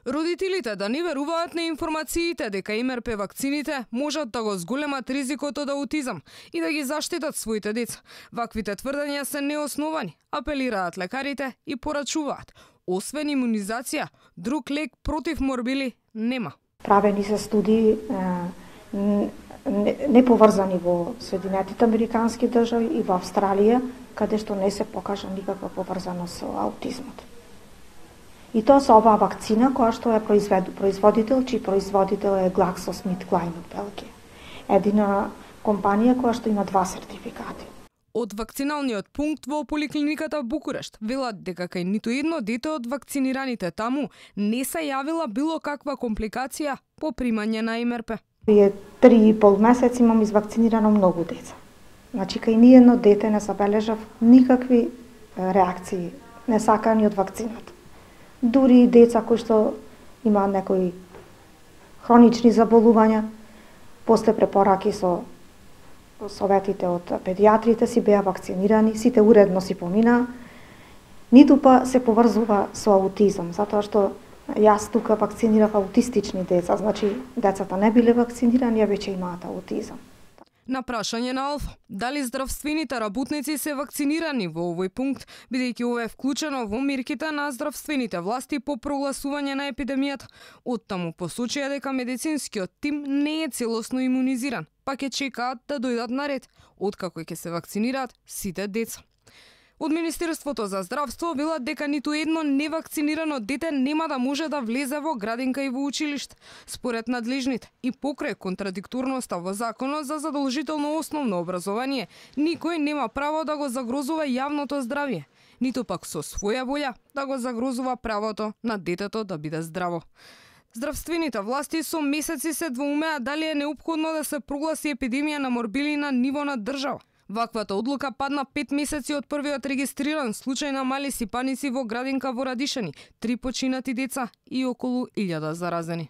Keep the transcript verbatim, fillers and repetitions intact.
Родителите да не веруваат на информациите дека М Р П вакцините можат да го зголемат ризикот од аутизам и да ги заштитат своите деца. Ваквите тврдења се неосновани, апелираат лекарите и порачуваат. Освен имунизација, друг лек против морбили нема. Правени се студии неповрзани во Соединетите Американски држави и во Австралија, каде што не се покажа никаква поврзаност со аутизмот. И тоа со оваа вакцина која што е производител, чиј производител е GlaxoSmithKline од Белгија. Едина компанија која што има два сертификати. Од вакциналниот пункт во поликлиниката Букурешт велат дека кај ниту едно дете од вакцинираните таму не се јавила било каква компликација по примање на М Р П. Прие три и пол месеци имам извакцинирано многу деца. Значи кај ни едно дете не забележав никакви реакции несакани од вакцината. Дури и деца кои што имаат некои хронични заболувања, после препораки со советите од педиатрите си беа вакцинирани, сите уредно си поминаа, ниту па се поврзува со аутизам, затоа што јас тука вакцинирав аутистични деца, значи децата не биле вакцинирани, а веќе имаат аутизам. На прашање на Алфа, дали здравствените работници се вакцинирани во овој пункт, бидејќи ова е вклучено во мерките на здравствените власти по прогласување на епидемијата, оттаму посочија дека медицинскиот тим не е целосно имунизиран, па ќе чекаат да дојдат на ред, откако ќе се вакцинираат сите деца. Од Министерството за здравство велат дека ниту едно невакцинирано дете нема да може да влезе во градинка и во училиште. Според надлежните и покрај контрадикторноста во законот за задолжително основно образование, никој нема право да го загрозува јавното здравје, ниту пак со своја волја да го загрозува правото на детето да биде здраво. Здравствените власти со месеци се двоумеа дали е неопходно да се прогласи епидемија на морбили на ниво на држава. Ваквата одлука падна пет месеци од првиот регистриран случај на мали сипаници во градинка во Радишани, три починати деца и околу илјада заразени.